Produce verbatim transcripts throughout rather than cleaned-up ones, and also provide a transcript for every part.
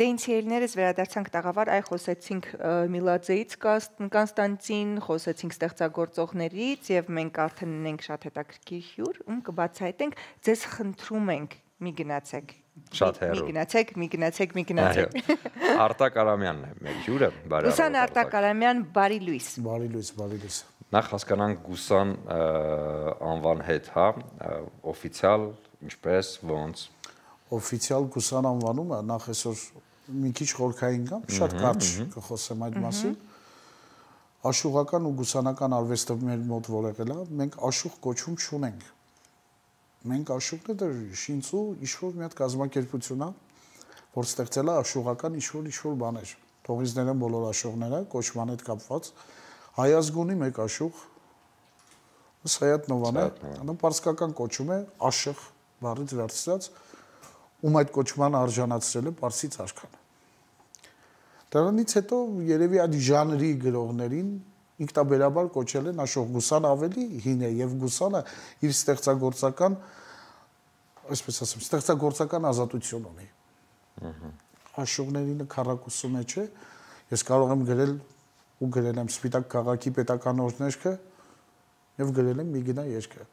Դենցիելներս վերադարձանք տաղավար, այ խոսեցինք Միլաձեից Կոնստանտին, խոսեցինք ստեղծագործողներից եւ մենք արդեն ունենք շատ հետաքրքիր հյուր, ում կբացահայտենք, ձեզ խնդրում ենք, մի գնացեք։ Շատ հեռու։ Մի գնացեք, մի գնացեք, մի գնացեք։ Արտակ Արամյանն է մեր հյուրը, բարի Գուսան Արտակ Արամյան, բարի լույս։ Բարի լույս, բարի լույս։ Նախ հասկանանք Գուսան անվան հետ, հա, օֆիցիալ, ինչպես, ոնց։ Օֆիցիալ Գուսան անվանումը նախ այսօր մի քիչ խորքային կամ շատ կարճ կխոսեմ այդ մասին։ Աշուղական ու գուսանական արվեստը մեր մոտ որ եղել է, մենք աշուղ կոչում չունենք։ Մենք աշուղն է շինծու ինչ-որ մի հատ կազմակերպություն է, որ ստեղծել է աշուղական ինչ-որ ինչ-որ բաներ։ Թողիզներն բոլոր աշուղները կոչման հետ կապված։ Հայազգունի մեկ աշուղ, Սայաթ Նովան է, նա պարսկական կոչում է աշղ բառից վերցրած, ում այդ կոչման արժանացրել է պարսից արքան։ Դրանից հետո երևի այդ ժանրի գրողներին ինքնաբերաբար կոչել են աշուղ։ Գուսան ավելի հին է եւ Գուսանը իր ստեղծագործական, այսպես ասեմ, ստեղծագործական ազատություն ունի։ Աշուղների քառակուսու մեջ է, ես կարող եմ գրել ու գրել եմ Սպիտակ քաղաքի պետական օրհներգը եւ գրել եմ մի գնա երկը։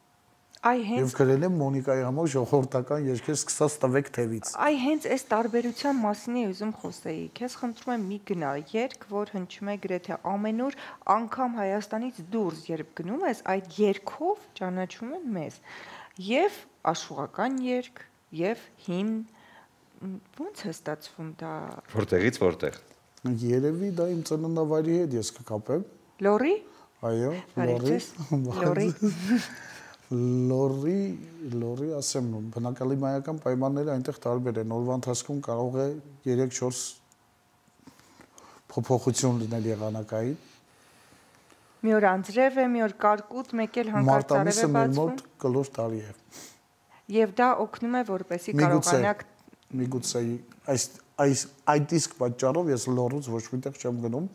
Այ հենց Եվ գրել եմ Մոնիկայի համար ժողովրդական երկեր սկսած տվեք թևից։ Այ հենց այս տարբերության մասին է ուզում խոսեի։ Քեզ խնդրում եմ մի գնա երգ, որ հնչում է գրեթե ամենուր, անգամ Հայաստանից դուրս, երբ գնում ես, այդ երգով ճանաչում են մեզ։ Եվ աշուղական երգ, եւ հին ո՞նց է ստացվում դա։ Որտեղից որտեղ։ Երևի դա իմ ծննդավայրի հետ ես կկապեմ։ Լորի։ Այո, Լորի։ Լորի։ Լորի, լորի, ասեմ, բնակալիմայական պայմանները այնտեղ տարբեր են, օրվա ընթացքում կարող է երեք-չորս փոփոխություն լինել եղանակային։ Մի օր անձրև է, մի օր կարկուտ, մեկ էլ հանկարծ արև է բացվում։ Մարտամիսը մեր մոտ կլոր տարի է։ Եվ դա օգնում է, որպեսզի կարողանաք միգուցե այս այս այդ իսկ պատճառով ես լորուց ոչ միտեղ չեմ գնում,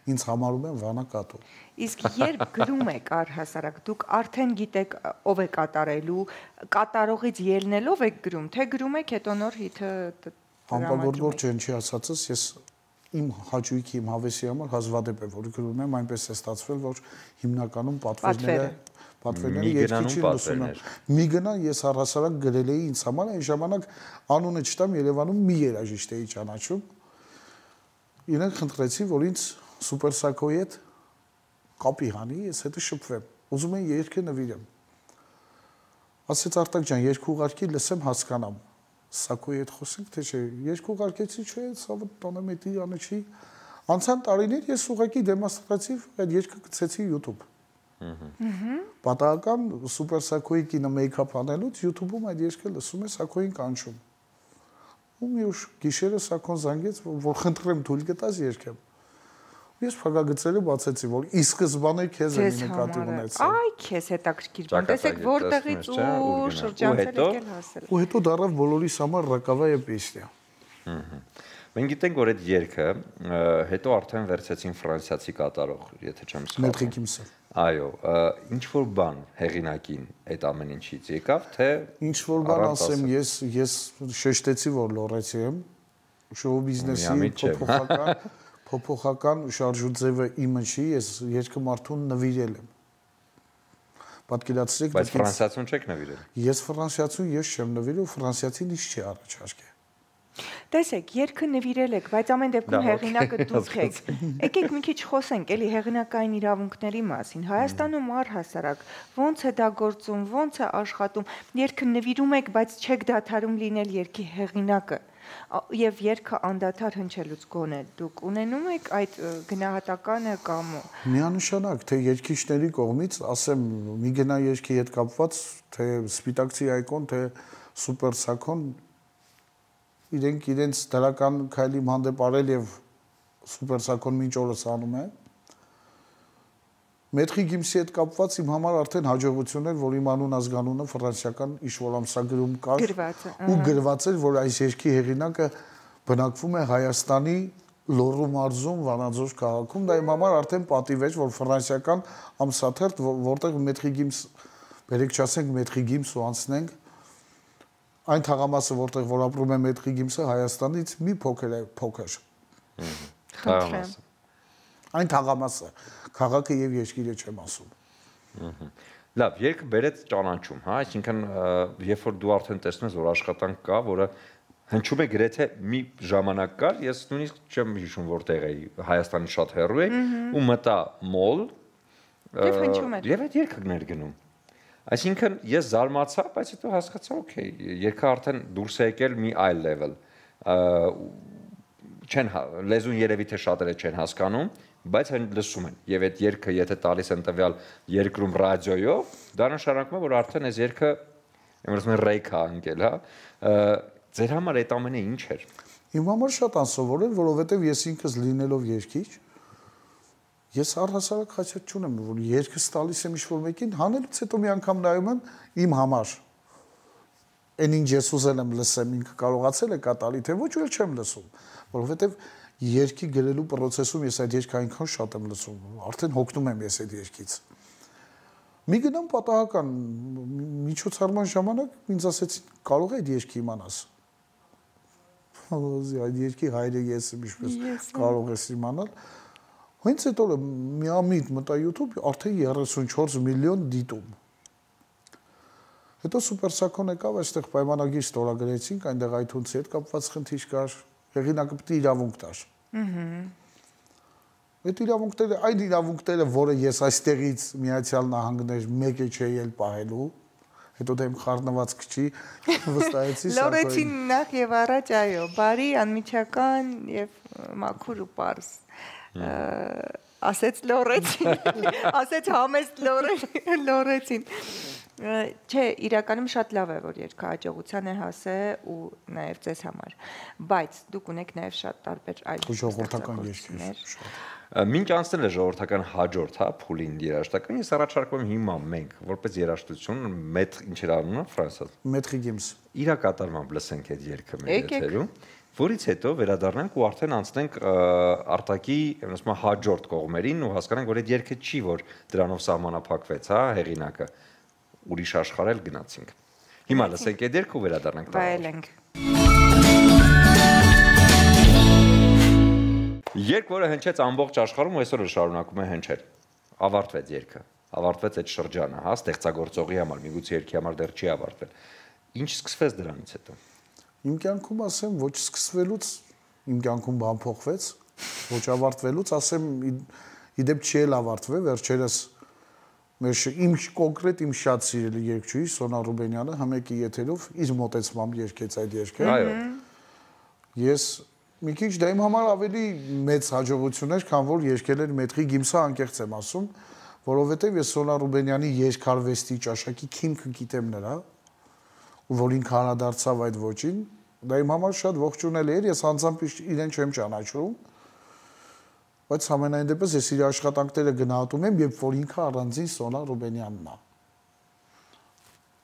ինձ համարում են վանակատու։ Իսկ երբ գրում եք առհասարակ, դուք արդեն գիտեք ով է կատարելու, կատարողից ելնելով եք գրում, թե գրում եք հետո նոր հիթը Համբարգոր չեն չի ասածս, ես իմ հաճույքի, իմ հավեսի համար հազվադեպ է, որ գրում եմ, այնպես է ստացվել, որ հիմնականում պատվերները պատվերները երկիչին լսում եմ։ Մի գնա ես առհասարակ գրել էի ինձ համար, այն ժամանակ անունը չտամ Երևանում մի երաժիշտ էի ճանաչում։ Իրենք խնդրեցին, որ ինձ Սուպերսակոյի հետ կապի հանի, ես հետը շփվեմ։ Ուզում եմ երգը նվիրեմ։ Ասեց Արտակ ջան, երգ ուղարկի լսեմ հասկանամ։ Սակոյի հետ խոսենք, թե չէ, երգ ուղարկեցի, չէ, սա տոնեմետի անը չի։ Անցան տարիներ ես ուղղակի դեմոնստրատիվ այդ երգը գցեցի YouTube։ Պատահական Սուպերսակոյի կինը մեյքափ անելուց YouTube-ում այդ երգը լսում է, Սակոյին կանչում։ Ու մի ուշ գիշերը Սակոն զանգեց, որ խնդրեմ թույլ կտաս երգեմ։ Ես փակագծերը բացեցի, որ ի սկզբանե քեզ եմ նկատի ունեցել։ Այ քեզ հետաքրքիր բան, տեսեք որտեղից ու շրջանցել եկել հասել։ Ու հետո դառավ բոլորիս համար ռակավայե պեսնյա։ Մենք գիտենք, որ այդ երգը հետո արդեն վերցեցին ֆրանսիացի կատարող, եթե չեմ սխալվում։ Մետրիկիմսը։ Այո, ինչ որ բան հեղինակին այդ ամեն ինչից եկավ, թե ինչ որ բան ասեմ, ես ես շեշտեցի, որ լորեցի եմ, շոու բիզնեսի փոփոխական փոփոխական շարժուձևը իմը չի, ես երկու մարդուն նվիրել եմ։ Պատկերացրեք, բայց ֆրանսիացուն չեք նվիրել։ Ես ֆրանսիացուն ես չեմ նվիրել, ֆրանսիացին ինչ չի առաջարկել։ Տեսեք, երգը նվիրել եք, բայց ամեն դեպքում հեղինակը դուք եք։ Եկեք մի քիչ խոսենք էլի հեղինակային իրավունքների մասին։ Հայաստանում առհասարակ ո՞նց է դա գործում, ո՞նց է աշխատում։ Երգը նվիրում եք, բայց չեք դադարում լինել երգի հեղինակը։ Եվ երգը անդադար հնչելուց գոնե դուք ունենում եք այդ գնահատականը կամ միանշանակ թե երգիչների կողմից, ասեմ, մի գնա երգի հետ կապված, թե Սպիտակցի այկոն, թե Սուպերսակոն իրենք իրենց դրական քայլի հանդեպ արել եւ Սուպերսակոն մինչ օրս անում է։ Մետրի գիմսի հետ կապված իմ համար արդեն հաջողություն էր, որ իմ անուն ազգանունը ֆրանսիական ինչ-որ ամսագրում կար ու գրված էր, որ այս երգի հեղինակը բնակվում է Հայաստանի Լոռու մարզում Վանաձոր քաղաքում, դա իմ համար արդեն պատիվ էր, որ ֆրանսիական ամսաթերթ, որտեղ մետրի գիմս, բերեք չասենք մետրի գիմս ու անցնենք, Այն թաղամասը, որտեղ որ ապրում է Մեթրի Գիմսը, Հայաստանից մի փոքր է, փոքր։ Թաղամասը։ Այն թաղամասը, քաղաքը եւ երկիրը չեմ ասում։ Լավ, երկը բերեց ճանաչում, հա, այսինքն երբ որ դու արդեն տեսնում ես, որ աշխատանք կա, որը հնչում է գրեթե մի ժամանակ կար, ես նույնիսկ չեմ հիշում որտեղ էի, Հայաստանի շատ հեռու էի, ու մտա մոլ, եւ հնչում էր։ Եվ այդ երկը ներգնում։ Այսինքն ես զարմացա, բայց հետո հասկացա, օքեյ, երկը արդեն դուրս է եկել մի այլ level։ Չեն լեզուն երևի թե շատերը չեն հասկանում, բայց հեն լսում են։ Եվ այդ երկը եթե տալիս են տվյալ երկրում ռադիոյով, դա նշանակում է, որ արդեն այս երկը, եմ ասում եմ ռեյք է ընկել, հա։ Ձեր համար այդ ամենը ինչ էր։ Իմ համար շատ անսովոր էր, որովհետև ես ինքս լինելով երկիչ, ես առհասարակ խաչած չունեմ, որ երկս տալիս եմ ինչ-որ մեկին, հանելուց հետո մի անգամ նայում եմ իմ համար։ Այն ինչ ես ուզել եմ լսեմ, ինքը կարողացել է կատարի, թե ոչ, ու չեմ լսում, որովհետև երկի գրելու process-ում ես այդ երկը այնքան շատ եմ լսում, արդեն հոգնում եմ ես այդ երկից։ Մի գնամ պատահական միջոցառման ժամանակ ինձ ասեցին, կարող է այդ երկի իմանաս։ Այդ երկի հայրը ես եմ, ինչպես կարող ես իմանալ։ Հենց այդ օրը միամիտ մտա YouTube, արդեն երեսունչորս միլիոն դիտում։ Հետո Սուպերսակոն եկավ, այստեղ պայմանագիր ստորագրեցինք, այնտեղ iTunes-ի հետ կապված խնդիր կար, հեղինակը պետք է իրավունք տար։ Այդ իրավունքները, այն իրավունքները, որը ես այստեղից Միացյալ Նահանգներ մեկը չէի էլ պահելու, հետո դեմ խառնված քչի վստահեցի Սակոյին։ Լորեցին նախ եւ առաջ, այո, բարի, անմիջական եւ մաքուր ու պարզ։ Ասեց լորեցին, ասեց համեստ լորեցին։ Չէ, իրականում շատ լավ է, որ երկը հաջողության է հասել ու նաև ձեզ համար, բայց դուք ունեք նաև շատ տարբեր այլ ժողովրդական երկեր։ Մինչ անցնել է ժողովրդական հաջորդ, հա, փուլին երաժշտական, ես առաջարկում եմ հիմա մենք, որպես երաժշտություն, մեծ ինչ էր անունը Ֆրանսիա։ Մեթրի Գիմս։ Իրա կատարմամբ լսենք այդ երգը մեր եթերում, որից հետո վերադառնանք ու արդեն անցնենք արտակի, ասում եմ, հաջորդ կողմերին ու հասկանանք, որ այդ երգը չի, որ դրանով սահմանափակվեց, հա, հեղինակը։ Ուրիշ աշխարհել գնացինք։ Հիմա լսենք այդ երգը ու վերադառնանք տանը։ Վայելենք։ Երգ, որը հնչեց ամբողջ աշխարհում ու այսօր շարունակում է հնչել։ Ավարտվեց երգը։ Ավարտվեց այդ շրջանը, հա, ստեղծագործողի համար, միգուցե երգի համար դեռ չի ավարտվել։ Ինչ սկսվեց դրանից հետո։ Իմ կյանքում ասեմ, ոչ սկսվելուց իմ կյանքում բան փոխվեց, ոչ ավարտվելուց, ասեմ, իդեպ չի էլ ավարտվել, վերջերս մեր իմ կոնկրետ իմ շատ սիրելի երգչուհի Սոնա Ռուբենյանը համեկի եթերով իր մոտեցմամբ երգեց այդ երգը։ Այո։ Ես մի քիչ դա իմ համար ավելի մեծ հաջողություն էր, քան որ երգել էր Մեթրի Գիմսը, անկեղծ եմ ասում, որովհետև ես Սոնա Ռուբենյանի երգարվեստի ճաշակի քիմքը գիտեմ նրա, ու որ ինքը հանրադարձավ այդ ոճին, դա իմ համար շատ ողջունել էր, ես անձամբ իրեն չեմ ճանաչում, բայց ամենայն դեպս ես իր աշխատանքները գնահատում եմ, երբ որ ինքը առանձին Սոնա Ռուբենյանն է։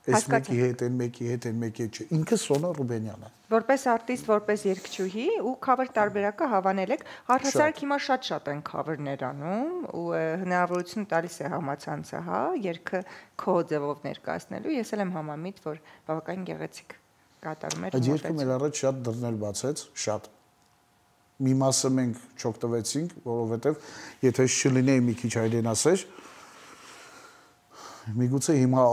Այս մեկի հետ, այն մեկի հետ, այն մեկի հետ չէ, ինքը Սոնա Ռուբենյանը։ Որպես արտիստ, որպես երգչուհի ու cover տարբերակը հավանել եք, առհասարակ հիմա շատ-շատ են cover-ներ անում ու հնարավորություն տալիս է համացանցը, հա, երգը քո ձևով ներկայացնելու, ես էլ եմ համամիտ, որ բավականին գեղեցիկ կատարում էր։ Այդ երգը մեր առաջ շատ դռներ բացեց, շատ։ Մի մասը մենք չօգտվեցինք, որովհետև եթե չլինեի մի քիչ հայրենասեր, միգուցե հիմա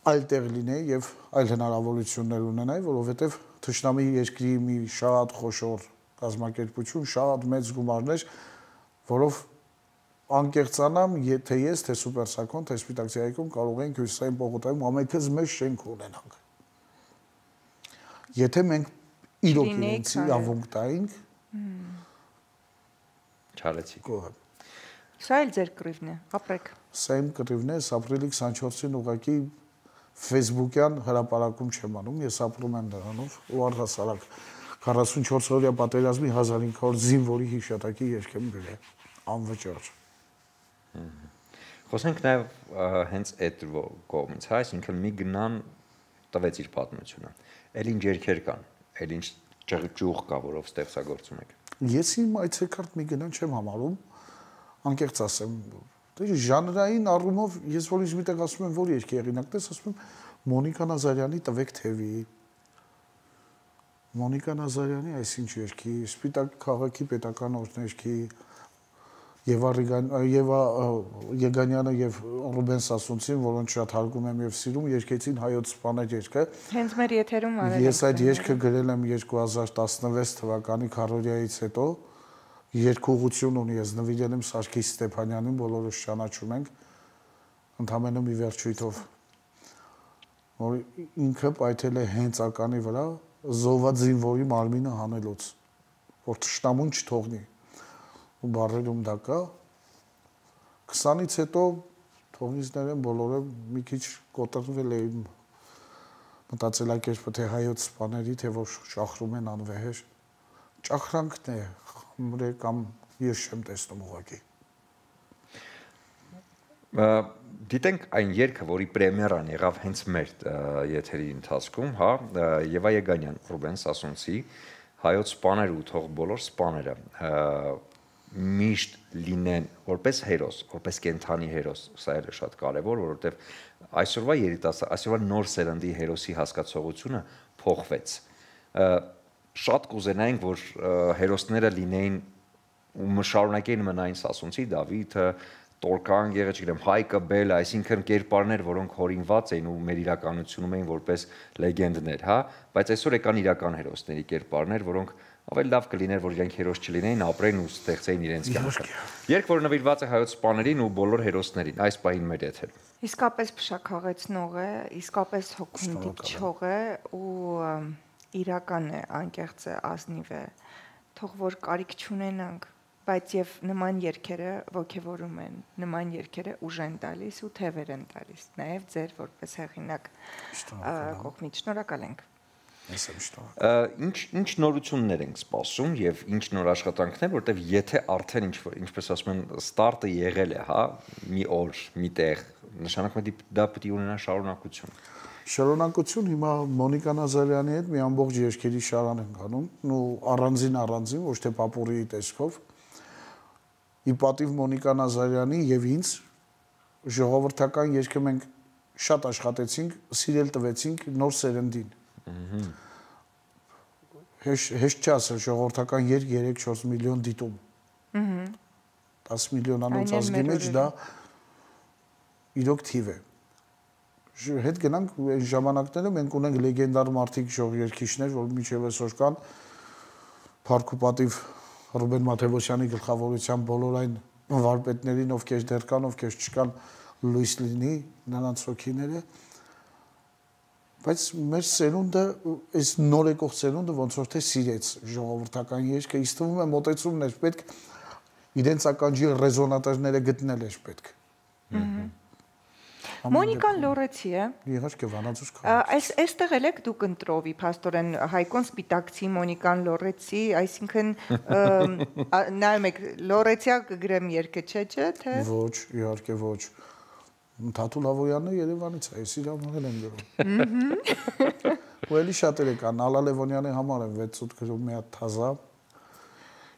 այլ տեղ լինեի եւ այլ հնարավորություններ ունենայի, որովհետև Թշնամի երկրի մի շատ խոշոր կազմակերպություն, շատ մեծ գումարներ, որով անկեղծանամ, թե ես, թե Սուպերսակոն, թե Սպիտակցիայիկում կարող ենք Հյուսիսային պողոտայում ամենքից մեծ շենք ունենանք։ Եթե մենք իրոք իրենց իրավունք տայինք, Չարեցիք։ Սա էլ ձեր կռիվն է, ապրեք։ Սա իմ կռիվն է, ապրիլի քսանչորսին ուղղակի Facebook-յան հրապարակում չեմ անում, ես ապրում եմ դրանով ու առհասարակ քառասունչորս օրյա պատերազմի հազար ինը հարյուր զինվորի հիշատակի երգ եմ գրել, անվճար։ Խոսենք նաև հենց այդ կողմից, հա, այսինքն մի գնան տվեց իր պատմությունը։ Էլ ինչ երգեր կան, էլ ինչ ճղճուղ կա, որով ստեղծագործում եք։ Ես իմ այցեքարտ մի գնան չեմ համարում, անկեղծ ասեմ, ժանրային առումով ես որ ինչ միտեղ ասում եմ, որ երգի հեղինակն ես, ասում եմ Մոնիկա Նազարյանի Տվեք թևի, Մոնիկա Նազարյանի այսինչ երգի, Սպիտակ քաղաքի պետական օրհներգի, Եվա Եվա Եգանյանը եւ Ռուբեն Սասունցին, որոնց շատ հարգում եմ եւ սիրում, երգեցին հայոց սպաներ երգը։ Հենց մեր եթերում արել եմ։ Ես այդ երգը գրել եմ երկու հազար տասնվեց թվականի քարորիայից հետո, երկուղություն ունի, ես նվիրել եմ Սարգիս Ստեփանյանին, բոլորս ճանաչում ենք, ընդամենը մի վերջույթով, որ ինքը պայթել է հենց ականի վրա, զոհված զինվորի մարմինը հանելուց, որ թշնամուն չթողնի։ Ու բարերում դա կա, քսանից հետո թողնիցներեն բոլորը մի քիչ կոտրվել էին մտածելակերպը, թե հայոց սպաների, թե որ ճախրում են անվեհեր, ճախրանքն է, խմրե կամ ես չեմ տեսնում ուղղակի։ Դիտենք այն երգը, որի պրեմիերան եղավ հենց մեր եթերի ընթացքում, հա, Եվա Եգանյան, Ռուբեն Սասունցի, հայոց սպաներ ու թող բոլոր սպաները միշտ լինեն որպես հերոս, որպես կենթանի հերոս, սա է շատ կարևոր, որովհետև այսօրվա երիտասարդ, այսօրվա նոր սերնդի հերոսի հասկացողությունը փոխվեց։ Շատ կուզենայինք, որ հերոսները լինեին ու շարունակեին մնային Սասունցի, Դավիթը, Տորկան, գեղեցիկ Հայկը, Բելը, այսինքն կերպարներ, որոնք հորինված էին ու մեր իրականությունում էին որպես լեգենդներ, հա, բայց այսօր եկան իրական հերոսների կերպարներ, որոնք ավելի լավ կլիներ, որ իրենք հերոս չլինեին, ապրեն ու ստեղծեին իրենց կյանքը։ Երբ որ նվիրված է հայոց սպաներին ու բոլոր հերոսներին, այս պահին մեր եթերում։ Իսկապես փշաքաղեցնող է, իսկապես հոգում դիպչող է ու իրական է, անկեղծ է, ազնիվ է։ Թող որ կարիք չունենանք, բայց եւ նման երգերը ոգևորում են, նման երգերը ուժ են տալիս ու թևեր են տալիս, նաեւ ձեր որպես հեղինակ կողմից շնորհակալ ենք։ Ինչ ինչ նորություններ ենք սպասում եւ ինչ նոր աշխատանքներ, որտեվ եթե արդեն ինչ ինչպես ասում են ստարտը եղել է, հա, մի օր, մի տեղ, նշանակում է դա պետք է ունենա շարունակություն։ Շարունակություն հիմա Մոնիկա Նազարյանի հետ մի ամբողջ երգերի շարան ենք անում, ու առանձին առանձին, ոչ թե պապուրիի տեսքով։ Ի պատիվ Մոնիկա Նազարյանի եւ ինձ ժողովրդական երգը մենք շատ աշխատեցինք, սիրել տվեցինք նոր սերնդին։ Հեշտ չի ասել ժողովրդական երգ երեք-չորս միլիոն դիտում։ դաս միլիոնանոց ազգի մեջ դա իրոք թիվ է։ Հետ գնանք այն ժամանակները մենք ունենք լեգենդար մարդիկ ժողովրդիչներ, որ մինչև այսօր կան Փառք ու պատիվ Ռուբեն Մաթևոսյանի գլխավորությամբ բոլոր այն վարպետներին, ովքեր դեռ կան, ովքեր չկան, լույս լինի նրանց հոգիները, բայց մեր սերունդը, այս նոր եկող սերունդը ոնց որ թե սիրեց ժողովրդական երգը, ինձ թվում է մոտեցումն էր պետք, իրենց ականջի ռեզոնատորները գտնել էր պետք։ Մոնիկան լորեցի է։ Իհարկե վանաձուր քաղաք։ Այս այստեղ էլ եք դուք ընտրովի, փաստորեն Հայկոն Սպիտակցի, Մոնիկան լորեցի, այսինքն նայում եք լորեցիա կգրեմ երգը, չէ՞ չէ, թե։ Ոչ, իհարկե ոչ։ Թաթուլ Հավոյանն է Երևանից, այս իր համար եմ գրում։ Ու էլի շատերը կան, Ալա Լևոնյանի համար եմ վեց ութ գրում մի հատ թազա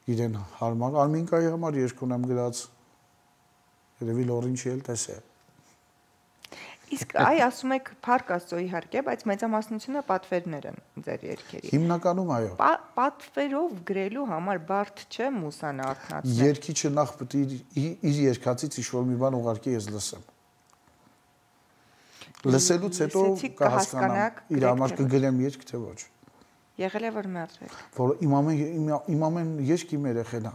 իրեն հարմար, Արմինկայի համար երգ ունեմ գրած։ Երևի լորին չի էլ տեսե։ Իսկ այ ասում եք Փառք Աստծո իհարկե, բայց մեծամասնությունը պատվերներ են ձեր երգերի։ Հիմնականում այո։ Պատվերով գրելու համար բարդ չէ մուսան արթնացնել։ Երգիչը նախ պետք է իր երգածից ինչ-որ մի բան ուղարկի ես լսեմ։ Լսելուց հետո կհասկանամ իր համար կգրեմ երգ թե ոչ։ Եղել է որ մեռել։ Որ իմ ամեն իմ ամեն երգ իմ երեխեն է։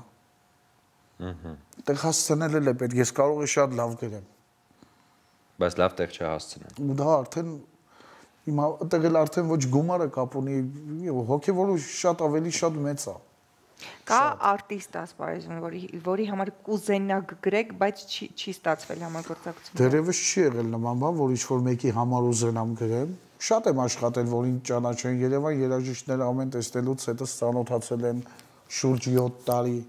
Ահա։ Տեղ հասցնել է պետք, ես կարող եմ շատ լավ գրեմ։ Բայց լավ տեղ չհասցնեն։ Ու դա արդեն հիմա այդտեղ էլ արդեն ոչ գումարը կապ ունի, հոգևորը շատ ավելի շատ մեծ է։ Կա արտիստ ասպարեզում, որի որի համար կուզենաք գրեք, բայց չի չի ստացվել համագործակցություն։ Դերևս չի եղել նման բան, որ ինչ-որ մեկի համար ուզենամ գրեմ։ Շատ եմ աշխատել, որ ինձ ճանաչեն Երևան երաժիշտները ամեն տեսնելուց հետո ծանոթացել են շուրջ յոթ տարի։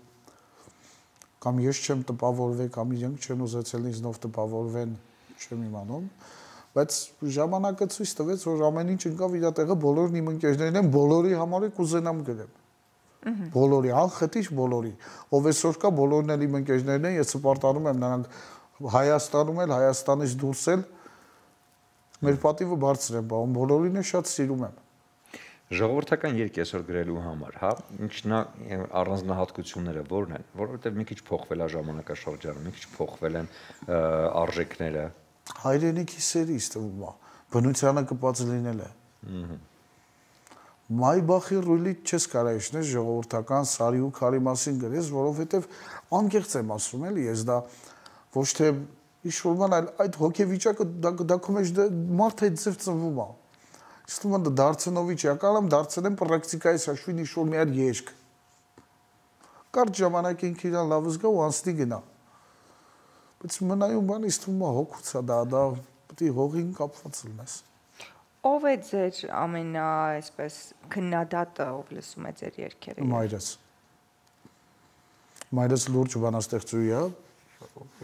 Կամ ես չեմ տպավորվել, կամ իրենք չեն ուզեցել ինձնով տպավորվեն, չեմ իմանում, բայց ժամանակը ցույց տվեց, որ ամեն ինչ ընկավ իր տեղը, բոլորն իմ ընկերներն են, բոլորի համար կուզենամ գրեմ։ Բոլորի, անխտիր բոլորի։ Ով այսօր կա, բոլորն էլ իմ ընկերներն են, ես սպարտանում եմ նրանք Հայաստանում էլ, Հայաստանից դուրս էլ մեր պատիվը բարձր է բաղում, բոլորին է շատ սիրում եմ։ Ժողովրդական երգ այսօր գրելու համար, հա, ինչն է առանձնահատկությունները որն են, որովհետև մի քիչ փոխվել է ժամանակաշրջանը, մի քիչ փոխվել են արժեքները։ Հայրենիքի սերի ստվում է, բնությանը կպած լինել է։ Մայբախի ռուլիտ չես կարող իշնել ժողովրդական սարի ու քարի մասին գրես, որովհետև անկեղծ եմ ասում էլի, ես դա ոչ թե ինչ-որ բան, այլ այդ հոգեվիճակը դա քո մեջ մարդ այդ ձև ծնվում է։ Ստում եմ դարձնովիչ եկալամ, դարձնեմ պրակտիկայից հաշվին ինչ-որ մի հատ երգ։ Կարճ ժամանակին իրան լավ զգա ու անցնի գնա։ Բայց մնայուն բանի ստում է հոգուց է դա, դա պետք է հողին կապված լինես։ Ով է ձեր ամենա, այսպես, քննադատը, ով լսում է ձեր երգերը։ Մայրս։ Մայրս լուրջ բանաստեղծուհի է,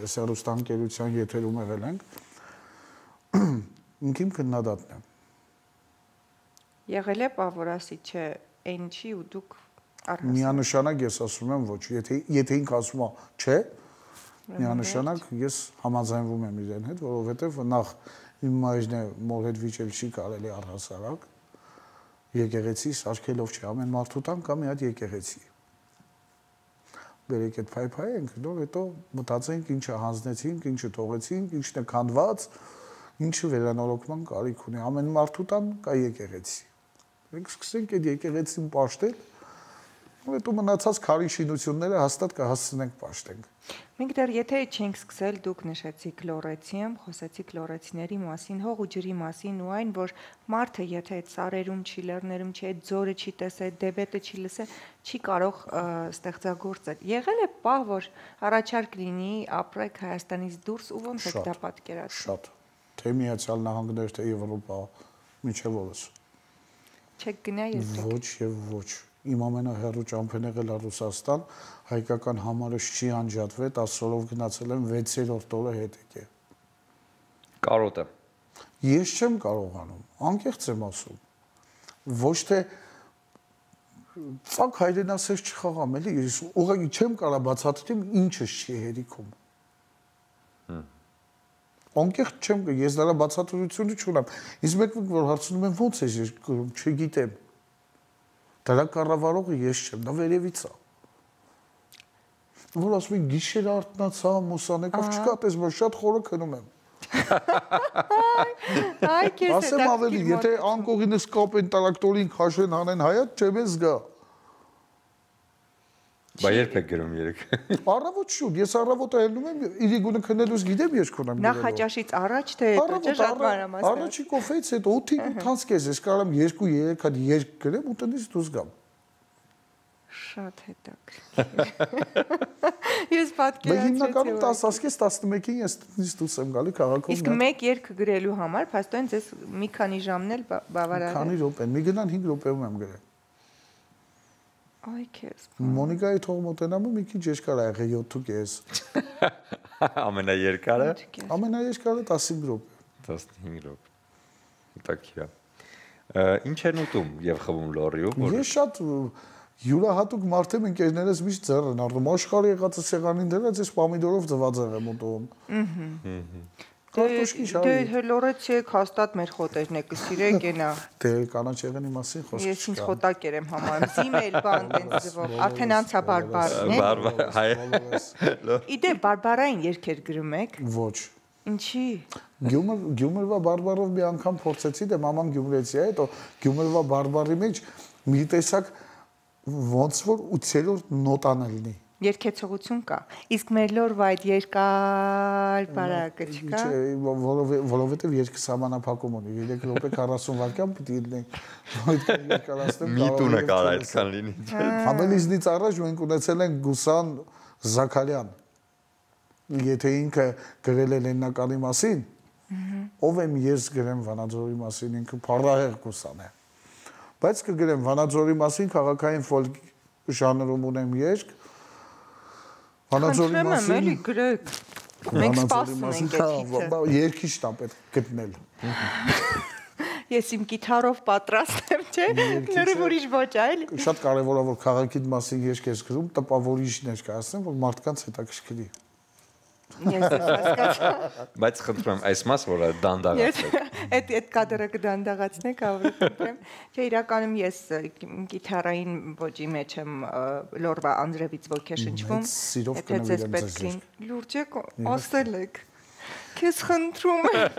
ես հեռուստաընկերության եթերում եղել ենք։ Ինքիմ քննադատն է։ Եղել է պավորասի, չէ, այնչի ու դուք առհասարակ։ Միանշանակ ես ասում եմ ոչ, եթե եթե ինքը ասում է չէ, միանշանակ ես համաձայնվում եմ իրեն հետ, որովհետև նախ իմ մայրն է մոր հետ վիճել չի կարելի առհասարակ։ Եկեղեցի սարքելով չի, ամեն մարդու տան կա մի հատ եկեղեցի։ Բերեք այդ փայփայենք, նոր հետո մտածենք ինչը հանձնեցինք, ինչը թողեցինք, ինչն է քանդված, ինչը վերանորոգման կարիք ունի։ Ամեն մարդու տան կա եկեղեցի։ Մենք սկսենք այդ եկեղեցին պաշտել, ու հետո մնացած քարի շինությունները հաստատ կհասցնենք պաշտենք։ Մենք դեռ եթե չենք սկսել, դուք նշեցիք լորեցիեմ, խոսեցիք լորեցիների մասին, հող ու ջրի մասին ու այն, որ մարդը եթե այդ սարերում չի, լեռներում չի, այդ ձորը չի տեսել, դեբետը չի լսել, չի կարող ստեղծագործել։ Եղել է պահ, որ առաջարկ լինի ապրեք Հայաստանից դուրս ու ոնց եք դա պատկերացնում։ Շատ։ Թե Միացյալ Նահանգներ, թե Եվրոպա, մինչև օրս։ Չեք գնա երբեք։ Ոչ եւ ոչ։ Իմ ամենահեռու ճամփեն եղել է Ռուսաստան, հայկական համարս չի անջատվել, տասը օրով գնացել եմ վեցերորդ օրը հետ եկե։ Կարոտը։ Ես չեմ կարողանում, անկեղծ եմ ասում։ Ոչ թե ցակ հայրենասեր չխաղամ, էլի, ես ուղղակի չեմ կարող բացատրեմ ինչը չի հերիքում։ Անկեղծ չեմ, ես դրա բացատրությունը չունեմ։ Իսկ մեկ որ հարցնում եմ ո՞նց է գրում, չգիտեմ։ Դրա կառավարողը ես չեմ, դա վերևից է։ Որ ասում են գիշեր արթնացա, մուսանեկով չկա, տես որ շատ խորը քնում եմ։ Այ քեզ ասեմ ավելի, եթե անկողինս կապեն տրակտորին քաշեն հանեն հայատ, չեմ ես գա։ Բա երբ եք գրում երեք։ Առավոտ շուտ, ես առավոտը ելնում եմ, իրիգունը քնելուց գիտեմ ես քոնեմ։ Նախաճաշից առաջ թե հետո, չէ՞ շատ մանրամասն։ Առաջի կոֆեից հետո ութին ութանց կես, ես կարամ երկու երեք հատ երկ գրեմ ու տնից դուրս գամ։ Շատ հետաքրքիր։ Ես պատկերացրեցի։ Բայց հիմնականում տասը տասնմեկին ես տնից դուրս եմ գալի քաղաքում։ Իսկ մեկ երկ գրելու համար, փաստորեն ձեզ մի քանի ժամն էլ բավարար է։ Քանի րոպե, մի գնան հինգ րոպեում եմ գրել։ Այ քեզ։ Մոնիկայի թող մոտենամ ու մի քիչ երկար ա եղել յոթ Ամենաերկարը։ Ամենաերկարը տասնհինգ րոպե։ տասնհինգ րոպե։ Հետաքրքիր է։ Ինչ են ուտում եւ խմում լոռիում։ Ես շատ յուրահատուկ մարդ եմ, ընկերներս միշտ ձեռ են առնում, աշխարհի եղածը սեղանին դրած, ես պամիդորով ձվածեղ եմ ուտում։ Կարտոշկի շարի։ Դե լորեցիեք հաստատ մեր խոտերն եք սիրեք ենա։ Դե կանաչ եղանի մասին խոսք չկա։ Ես ինձ խոտակեր եմ համարում, զիմել բան տենց ձևով, արդեն անցա բարբարն է։ Բարբար, հայ։ Իդե բարբարային երգեր գրում եք։ Ոչ։ Ինչի։ Գյումր Գյումրվա բարբարով մի անգամ փորձեցի, դե մաման գյումրեցի է, հետո Գյումրվա բարբարի մեջ մի տեսակ ոնց որ ութերորդ նոտան լինի։ Երկեցողություն կա։ Իսկ մեր լորվա այդ երկար բարակը չկա։ Որովհետև երկը սահմանափակում ունի, երեք րոպե քառասուն վայրկյան պետք է լինի։ Այդքան երկարացնեմ։ Մի տունը կարա այդքան լինի։ Համելիզնից առաջ մենք ունեցել ենք Գուսան Զաքարյան։ Եթե ինքը գրել է Լեննականի մասին, ով եմ ես գրեմ Վանաձորի մասին, ինքը փառահեղ Գուսան է։ Բայց կգրեմ Վանաձորի մասին քաղաքային ֆոլկ ժանրում ունեմ երգ։ Վանաձորի մասին էլի գրեք։ Մենք սպասում ենք այդ երկիչն է պետք գտնել։ Ես իմ գիտարով պատրաստ եմ, չէ՞։ Նորը ուրիշ ոչ այլ։ Շատ կարևոր է որ քաղաքի մասին երգ ես գրում, տպավորիչ ներկայացնեմ, որ մարդկանց հետաքրքրի։ Ես հասկացա։ Բայց խնդրում եմ այս մասը, որը դանդաղացեք։ Այդ այդ կադրը կդանդաղացնեք, ավելի խնդրեմ։ Չէ, իրականում ես գիտարային ոճի մեջ եմ լորվա Անդրեվից ոգեշնչվում։ Եթե ձեզ պետք է լուրջ եք ասել եք։ Քեզ խնդրում եմ։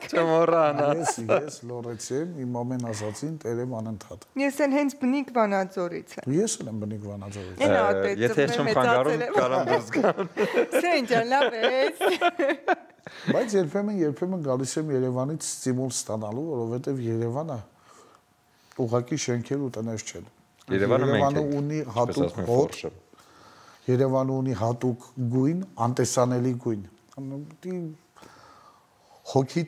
Չմոռանա։ Ես ես լորեցի եմ, իմ ամեն ասացին տերեմ անընդհատ։ Ես էլ հենց բնիկ Վանաձորից եմ։ Ես էլ եմ բնիկ Վանաձորից։ Եթե չեմ խանգարում, կարամ դուրս գամ։ Սենջան լավ է։ Բայց երբեմն երբեմն գալիս եմ Երևանից ստիմուլ ստանալու, որովհետև Երևանը ուղղակի շենքեր ու տներ չեն։ Երևանը ունի հատուկ հոտ։ Երևանը ունի հատուկ գույն, անտեսանելի գույն։ Հոգի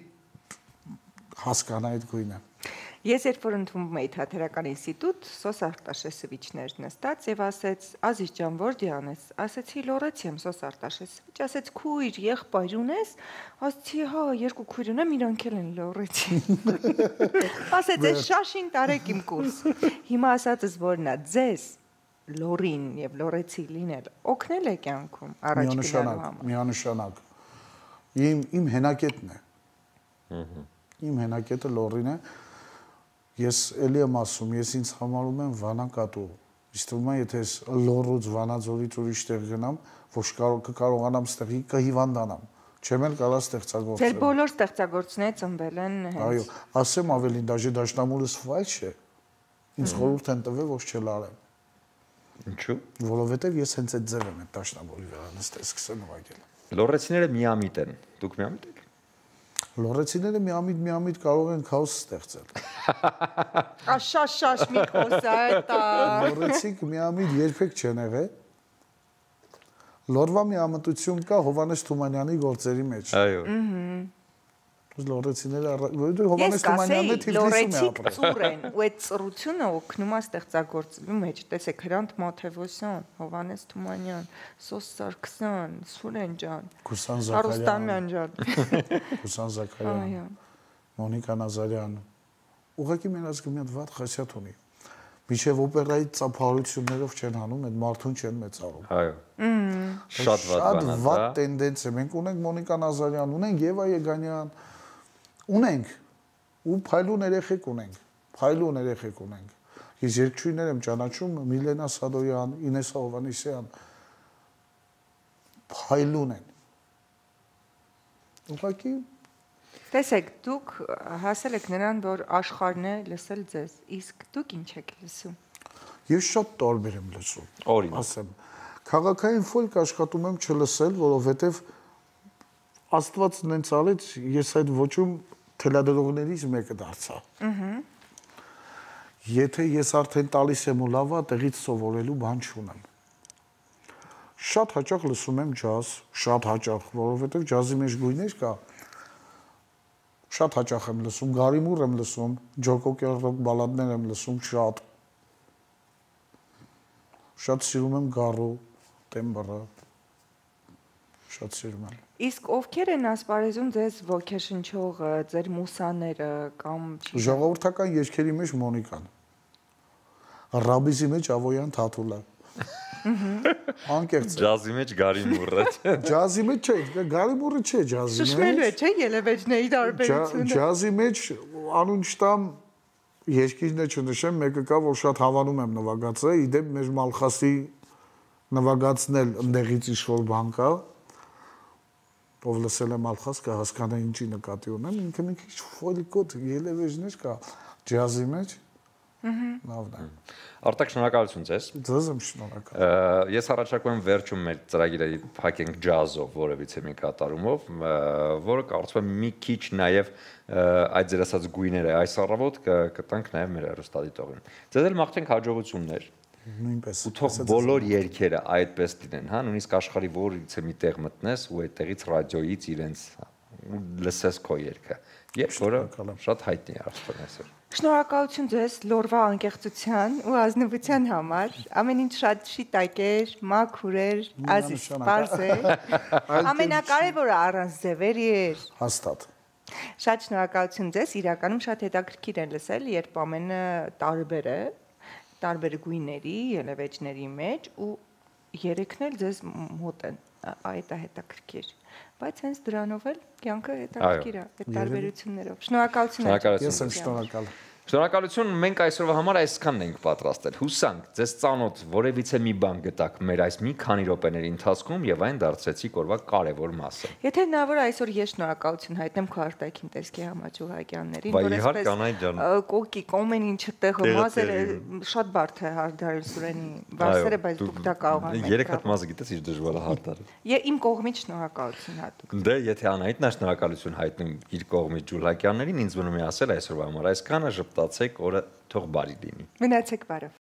հասկանա այդ գույնը։ Ես երբ որ ընդունվում էի թատերական ինստիտուտ, Սոս Արտաշեսովիչներ նստած եւ ասեց. «Ազիզ ջան, որ դիանես»։ Ասեցի լորեցի եմ Սոս Արտաշեսովիչ, ասեց քույր, եղբայր ունես։ Ասեցի հա, երկու քույր ունեմ, իրանք էլ են լորեցի։ Ասեց այս շաշին տարեք իմ կուրս։ Հիմա ասածս որն է, ձեզ լորին եւ լորեցի լինել օգնել է կյանքում առաջ գնալու համար։ Միանշանակ։ Իմ իմ հենակետն է։ Իմ հենակետը լորին է։ Ես էլի եմ ասում, ես ինձ համարում եմ վանակատու։ Իսկ թվում է, եթե ես լորուց Վանաձորից ուրիշ տեղ գնամ, ոչ կկարողանամ ստեղի կհիվանդանամ։ Չեմ էլ կարող ստեղծագործել։ Ձեր բոլոր ստեղծագործները ծնվել են հենց։ Այո, ասեմ ավելին, դաժե դաշնամուրս ֆայլ չէ։ Ինձ խորհուրդ են տվել, ոչ չլարեմ։ Ինչու՞։ Որովհետև ես հենց այդ ձև եմ այդ դաշնամուրի վրա նստել, սկսել նվագել։ Լորեցիները միամիտ են։ Դուք միամիտ եք։ Լորեցիները միամիտ-միամիտ կարող են քաոս ստեղծել։ Աշաշաշ մի խոսա դա։ Լորեցիկ միամիտ երբեք չեն եղել։ Լորվա միամտություն կա Հովանես Թումանյանի գործերի մեջ։ Այո։ Լորեցիները Հովանես Թումանյանն է թիվրիսում է ապրել։ Ծուր են, ու այդ ծրությունը օգնում է ստեղծագործելու մեջ։ Տեսեք Հրանտ Մաթևոսյան, Հովանես Թումանյան, Սոս Սարգսյան, Սուրեն ջան, Գուսան Արուստանյան ջան, Գուսան Զաքարյան, Մոնիկա Նազարյան։ Ուղղակի մեր ազգը մի հատ վատ խասյաթ ունի։ Միջև օպերայի ծափարություններով չեն հանում, այդ մարդուն չեն մեծարում։ Այո։ Շատ վատ բան է դա։ Վատ տենդենս է։ Մենք ունենք Մոնիկա Նազարյան, ունենք Եվա Եգանյան, ունենք ու փայլուն երեխեք ունենք, փայլուն երեխեք ունենք։ Ես երկչույներ եմ ճանաչում Միլենա Սադոյան, Ինեսա Հովանեսյան, փայլուն են։ Ուղղակի տեսեք, դուք հասել եք նրան, որ աշխարհն է լսել ձեզ, իսկ դուք ինչ եք լսում։ Ես շատ տարբեր եմ լսում։ Օրինակ։ Ասեմ, քաղաքային ֆոլք աշխատում եմ չլսել, որովհետև Աստված նենց արեց, ես այդ ոճում թելադրողներից մեկը դարձա։ Ահա։ Եթե ես արդեն տալիս եմ ու լավա, տեղից սովորելու բան չունեմ։ Շատ հաճախ լսում եմ ջազ, շատ հաճախ, որովհետև ջազի մեջ գույներ կա։ Շատ հաճախ եմ լսում, Գարիմուր եմ լսում, Ջո Կոկեր ռոք բալադներ եմ լսում շատ։ Շատ սիրում եմ Գարո, Տեմբրը։ Շատ սիրում եմ։ Իսկ ովքեր են ասպարեզում ձեզ ոգեշնչող, ձեր մուսաները կամ ժողովրդական երգերի մեջ Մոնիկան։ Ռաբիզի մեջ Ավոյան Թաթուլը։ Անկեղծ։ Ջազի մեջ Գարիմուրը։ Ջազի մեջ չէ, Գարիմուրը չէ ջազի մեջ։ Շշմելու է, չէ, ելևէջների տարբերությունը։ Ջազի մեջ անունշտամ երկիրն է չնշեմ, մեկը կա, որ շատ հավանում եմ նվագացը, իդեպ մեր Մալխասի նվագացն էլ ընդեղից ինչ-որ բան կա, ով լսել է Մալխաս կհասկանա ինչի նկատի ունեմ, ինքը մի քիչ ֆոլկոտ ելևէջներ կա ջազի մեջ։ Լավն է։ Արտակ, շնորհակալություն ձեզ։ Ձեզ եմ շնորհակալ։ Ես առաջարկում եմ վերջում մեր ծրագիրը փակենք ջազով, որևիցե մի կատարումով, որը կարծում եմ մի քիչ նաև այդ ձեր ասած գույները այս առավոտ կտանք նաև մեր հեռուստադիտողին։ Ձեզ էլ մաղթենք հաջողություններ։ Նույնպես։ Ու թող բոլոր երգերը այդպես լինեն, հա, նույնիսկ աշխարհի որից մի տեղ մտնես ու այդտեղից ռադիոյից իրենց լսես քո երգը։ Երբ որը շատ հայտնի է արդեն այսօր։ Շնորհակալություն ձեզ լորվա անկեղծության ու ազնվության համար։ Ամեն ինչ շատ շիտակ էր, մաքուր էր, ազիզ սպարզ էր։ Ամենակարևորը առանց ձևերի էր։ Հաստատ։ Շատ շնորհակալություն ձեզ, իրականում շատ հետաքրքիր է լսել, երբ ամենը տարբեր է, տարբեր գույների, ելևէջների մեջ ու երեքն էլ ձեզ մոտ են, այդ է հետաքրքիր, բայց հենց դրանով էլ կյանքը հետաքրքիր է, այդ տարբերություններով։ Շնորհակալություն։ Ես եմ շնորհակալ։ Շնորհակալություն, մենք այսօրվա համար այսքանն ենք պատրաստել։ Հուսանք, ձեզ ծանոթ որևիցե մի բան գտաք մեր այս մի քանի րոպեների ընթացքում եւ այն դարձրեցիք օրվա կարևոր մասը։ Եթե հնարավոր այսօր ես շնորհակալություն հայտնեմ քո արտաքին տեսքի Համաճուհակյաններին, որ այսպես կոկիկ ամեն ինչը տեղը մազերը շատ բարդ է հարդարել Սուրենի վարսերը, բայց դուք դա կարող եք։ Երեք հատ մազը գիտես իր դժվար է հարդարել։ Եվ իմ կողմից շնորհակալություն հատուկ։ Դե եթե Անահիտն է շնորհակալություն հայտնում իր կողմից Ջուլակյաններին, ինձ մնում է ասել այսօրվա համար այսքանը, ժպտացեք, օրը թող բարի լինի։ Մնացեք բարով։